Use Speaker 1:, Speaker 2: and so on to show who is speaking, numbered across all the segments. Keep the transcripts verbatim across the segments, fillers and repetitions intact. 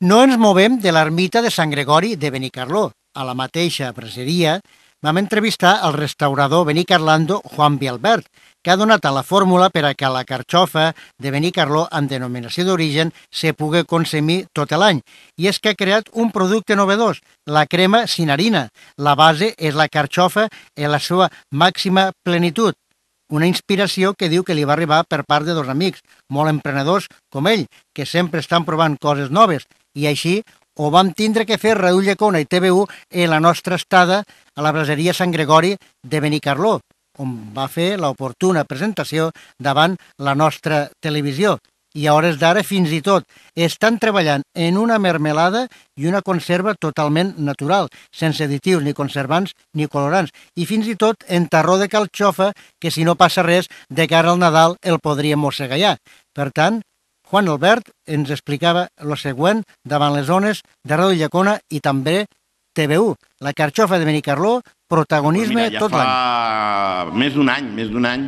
Speaker 1: No ens movem de l'ermita de Sant Gregori de Benicarló. A la mateixa braseria vam entrevistar el restaurador benicarlando Juan Vialbert, que ha donat a la fórmula per a que la carxofa de Benicarló amb denominació d'origen se pugui consumir tot l'any. I és que ha creat un producte novedós, la crema sin harina. La base és la carxofa en la seva màxima plenitud. Una inspiració que diu que li va arribar per part de dos amics, molt emprenedors com ell, que sempre estan provant coses noves. I així ho vam tindre que fer Raül Llecona i T V U en la nostra estada a la braseria Sant Gregori de Benicarló, on va fer l'oportuna presentació davant la nostra televisió. I a hores d'ara, fins i tot, estan treballant en una mermelada i una conserva totalment natural, sense additius ni conservants ni colorants, i fins i tot en tarró de carxofa, que si no passa res, de cara al Nadal el podríem mossegar ja. Per tant, Juan Albert ens explicava el següent davant les zones de Raül Llecona i també T V U. La carxofa de Benicarló, protagonisme
Speaker 2: Mira, ja
Speaker 1: tot l'any.
Speaker 2: fa més d'un any, més d'un any,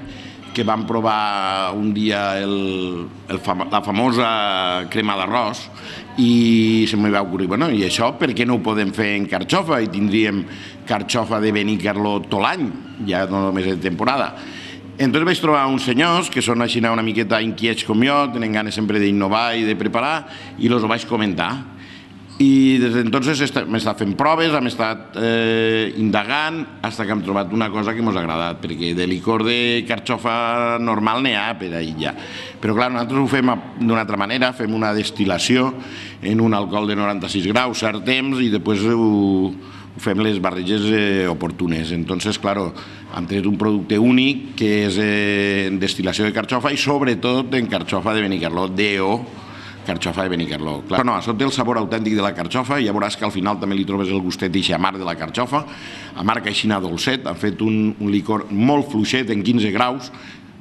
Speaker 2: que vam provar un dia el, el fam la famosa crema d'arròs i se m'hi va ocorrir, bueno, i això per què no ho podem fer en carxofa i tindríem carxofa de Benicarló tot l'any, ja no només en temporada. Entonces vaig trobar uns senyors que són així una miqueta inquiets com jo, tenen ganes sempre d'innovar i de preparar, i els ho vaig comentar. I des d'entonces hem estat fent proves, hem estat eh, indagant, fins que hem trobat una cosa que ens ha agradat, perquè de licor de carxofa normal n'hi ha per ahir ja. Però clar, nosaltres ho fem d'una altra manera, fem una destil·lació en un alcohol de noranta-sis graus, cert temps, i després ho, ho fem les barreges eh, oportunes. Entonces, claro, hem tret un producte únic que és eh, en destil·lació de carxofa i sobretot en carxofa de Benicarló, D O, carxofa de Benicarló. Clar, no, això té el sabor autèntic de la carxofa i ja veuràs que al final també li trobes el gustet i amarg de la carxofa, amarg aixina dolcet. Han fet un, un licor molt fluixet en quinze graus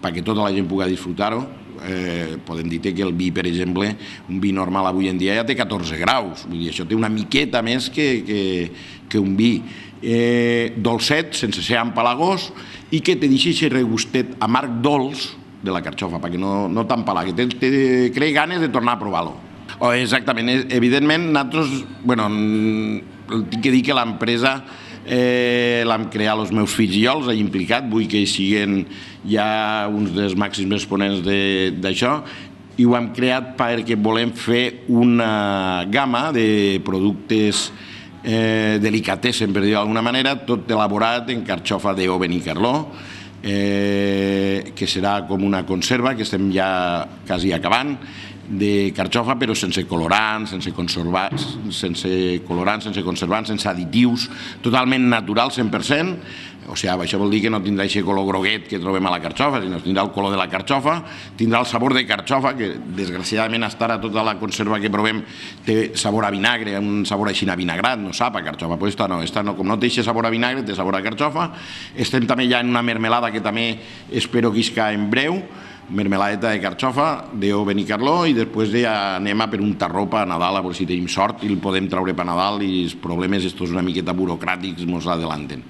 Speaker 2: perquè tota la gent pugui disfrutar-ho. Eh, podem dir que el vi, per exemple, un vi normal avui en dia ja té catorze graus, vull dir, això té una miqueta més que, que, que un vi. Eh, dolcet, sense ser empalagós, i que te deixi aquest regustet amarg dolç de la carxofa, perquè no, no t'empalague, te, te crei ganes de tornar a provar-lo. Oh, exactament, evidentment, nosaltres, bueno, tinc que dir que l'empresa eh, l'hem creat els meus fills i jo, els he implicat, vull que siguin ja uns dels màxims exponents d'això, i ho hem creat perquè volem fer una gamma de productes eh, delicatessen, per dir-ho d'alguna manera, tot elaborat en carxofa de Benicarló, Eh, que serà com una conserva que estem ja quasi acabant de carxofa, però sense colorants, sense conservants, sense colorants, sense conservants, sense additius, totalment natural, cent per cent. O sigui, això vol dir que no tindrà aquest color groguet que trobem a la carxofa, sinó que tindrà el color de la carxofa, tindrà el sabor de carxofa, que desgraciadament hasta ara tota la conserva que provem té sabor a vinagre, un sabor així a vinagrat, no sap a carxofa, però esta no, esta no, com no té aquest sabor a vinagre, té sabor a carxofa. Estem també ja en una mermelada que també espero que isca en breu, mermeladeta de carxofa de Benicarló, i després ja anem a per un tarró per a Nadal, a veure si tenim sort i el podem treure per a Nadal i els problemes estos una miqueta burocràtics ens adelanten.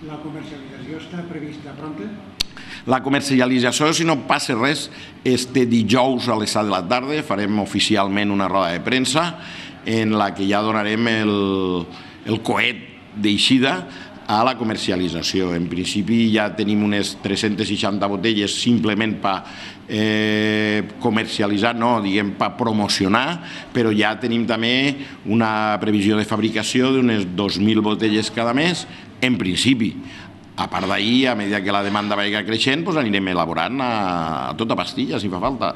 Speaker 1: La comercialització està prevista pronta?
Speaker 2: La comercialització, si no passa res, este dijous a les set de la tarda farem oficialment una roda de premsa en la que ja donarem el, el coet d'eixida a la comercialització. En principi ja tenim unes tres-centes seixanta botelles simplement per eh, comercialitzar, no, diguem, per promocionar, però ja tenim també una previsió de fabricació d'unes dos mil botelles cada mes, en principi. A part d'ahir, a mesura que la demanda vagi creixent, doncs anirem elaborant a, a tota pastilla, si fa falta.